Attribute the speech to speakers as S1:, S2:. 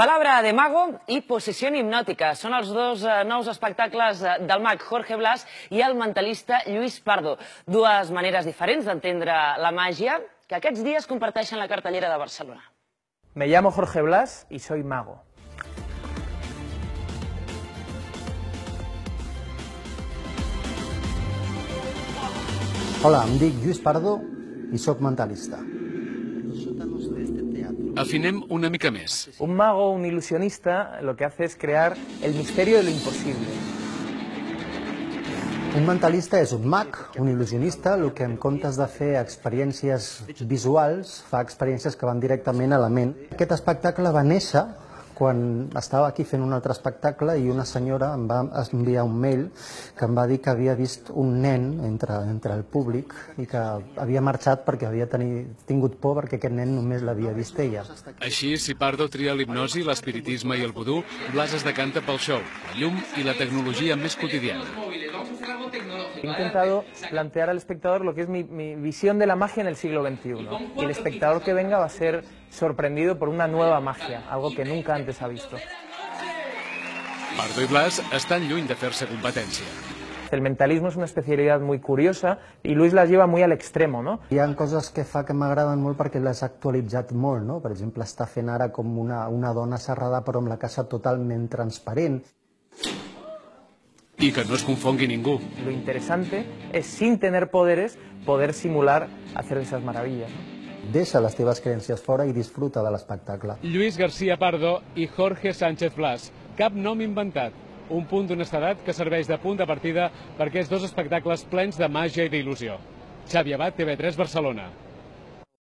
S1: Palabra de mago i possessió hipnòtica són els dos nous espectacles del mag Jorge Blas i el mentalista Lluís Pardo. Dues maneres diferents d'entendre la màgia que aquests dies comparteixen la cartellera de Barcelona.
S2: Me llamo Jorge Blas y soy mago.
S3: Hola, em dic Lluís Pardo i sóc mentalista.
S4: Afinem una mica més.
S2: Un mago, un ilusionista, lo que hace es crear el misterio de lo imposible.
S3: Un mentalista és un mag, un il·lusionista, el que en comptes de fer experiències visuals, fa experiències que van directament a la ment. Aquest espectacle va néixer quan estava aquí fent un altre espectacle i una senyora em va enviar un mail que em va dir que havia vist un nen entre el públic i que havia marxat perquè havia tingut por perquè aquest nen només l'havia vist ella.
S4: Així, si Pardo tria l'hipnosi, l'espiritisme i el vudú, Blas es decanta pel show, la llum i la tecnologia més quotidiana.
S2: He intentado plantear al espectador lo que es mi visión de la magia en el siglo XXI. Y el espectador que venga va a ser sorprendido por una nueva magia, algo que nunca antes ha visto.
S4: Pardo i Blas estan lluny de fer-se competència.
S2: El mentalismo es una especialidad muy curiosa y Luis las lleva muy al extremo, ¿no?
S3: Hi ha coses que fa que m'agraden molt perquè les ha actualitzat molt, no? Per exemple, està fent ara com una dona serrada però amb la casa totalment transparent.
S4: I que no es confongui ningú.
S2: Lo interesante es, sin tener poderes, poder simular hacer esas maravillas, ¿no?
S3: Deixa les teves creences fora i disfruta de l'espectacle.
S4: Lluís García Pardo i Jorge Sánchez Blas. Cap nom inventat. Un punt d'honestedat que serveix de punt de partida per aquests dos espectacles plens de màgia i d'il·lusió. Xavi Abad, TV3 Barcelona.